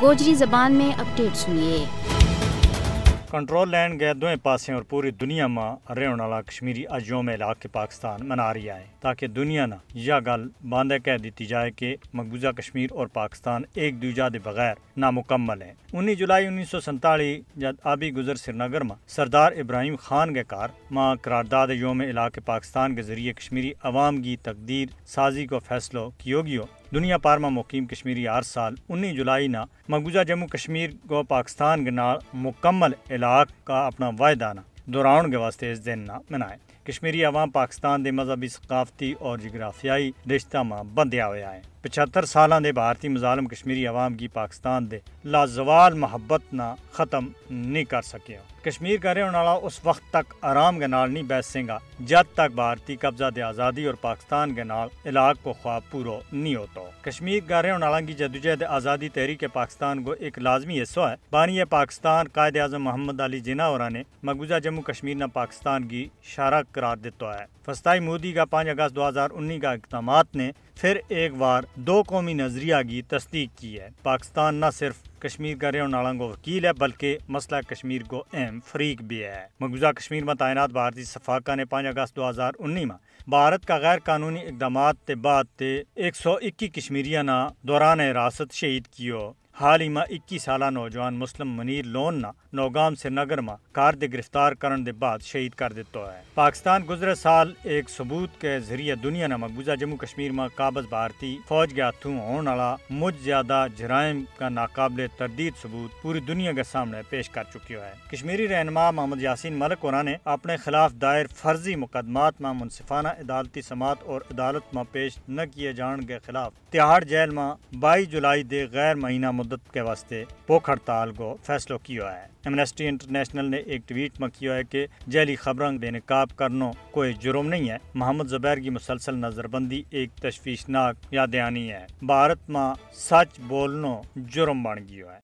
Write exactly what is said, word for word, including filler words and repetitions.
گوجری زبان میں اپڈیٹ سنیے۔ کنٹرول لینڈ گئے دوئیں پاسیں اور پوری دنیا ما رہن والا کشمیری اج یوم علاقہ پاکستان منا رہیا ہے، تاکہ دنیا نا یا گل باندھے کہہ دتی جائے کہ مقبوضہ کشمیر اور پاکستان ایک دوجہ دے بغیر نامکمل ہیں۔ انی جولائی انیس سو سینتالیس جد آبی گزر سرینگر ما سردار ابراہیم خان کے کار ما قرارداد یوم علاقہ پاکستان کے ذریعے کشمیری عوام کی تقدیر سازی کو فیصلو کیو گیو۔ دنیا پار ما مقیم کشمیری ہر سال انی جولائی نا مقبوضہ جموں کشمیر کو پاکستان کے نال مکمل علاقہ کا اپنا واحدہ نا دہراؤن کے واسطے اس دن نا منائے۔ کشمیری عوام پاکستان دے مذہبی، ثقافتی اور جغرافیائی رشتہ ما بندھیا ہویا ہے۔ پچھتر سالاں دے بھارتی مظالم کشمیری عوام کی پاکستان دے لازوال محبت نا ختم نہیں کر سکیا۔ کشمیر کا رہن والا اس وقت تک آرام کے نال نہیں بیسیں گا جد تک بھارتی قبضہ دے آزادی اور پاکستان کے نال علاقہ کو خواب پورو نہیں ہوتو۔ کشمیر کا رہن والا کی جدوجہد آزادی تحریک پاکستان کو ایک لازمی حصو ہے۔ بانی پاکستان قائد اعظم محمد علی جناح اور نے مقبوضہ جموں کشمیر نا پاکستان کی شارک قرار دیتا ہے۔ فستائی مودی کا پانچ اگست دو ہزار انی کا اقدامات نے پھر ایک بار دو قومی نظریہ کی تصدیق کی ہے۔ پاکستان نہ صرف کشمیر کا رہن والا کو وکیل ہے بلکہ مسئلہ کشمیر کو اہم فریق بھی ہے۔ مقبوضہ کشمیر ما تعینات بھارتی سفاکا نے پانچ اگست دو ہزار انی ما بھارت کا غیر قانونی اقدامات تے بعد تے ایک سو اکی کشمیریاں نا دوران حراست شہید کیو۔ حال ہی ما اکی سالہ نوجوان مسلم منیر لون نا نوگام سرینگر ما کار دے گرفتار کرن دے بعد شہید کر دیتا ہے۔ پاکستان گزرے سال ایک ثبوت کے ذریعے دنیا نا مقبوضہ جموں کشمیر ما قابض بھارتی فوج کے ہاتھوں ہون والا مجھ زیادہ جرائم کا ناقابل تردید ثبوت پوری دنیا کے سامنے پیش کر چکیو ہے۔ کشمیری رہنما محمد یاسین ملک اور نے اپنے خلاف دائر فرضی مقدمات ما منصفانہ عدالتی سماعت اور عدالت ما پیش نہ کیے جان کے خلاف تہاڑ جیل ما بائی جولائی دے غیر مہینہ مدت کے واسطے بھوک ہڑتال کو فیصلو کیو ہے۔ ایمنسٹی انٹرنیشنل نے ایک ٹویٹ ما کیو ہے کہ جیلی خبراں بے نقاب کرنو کوئی جرم نہیں ہے۔ محمد زبیر کی مسلسل نظربندی ایک تشویشناک یادیانی ہے۔ بھارت ما سچ بولنو جرم بن گیو ہے۔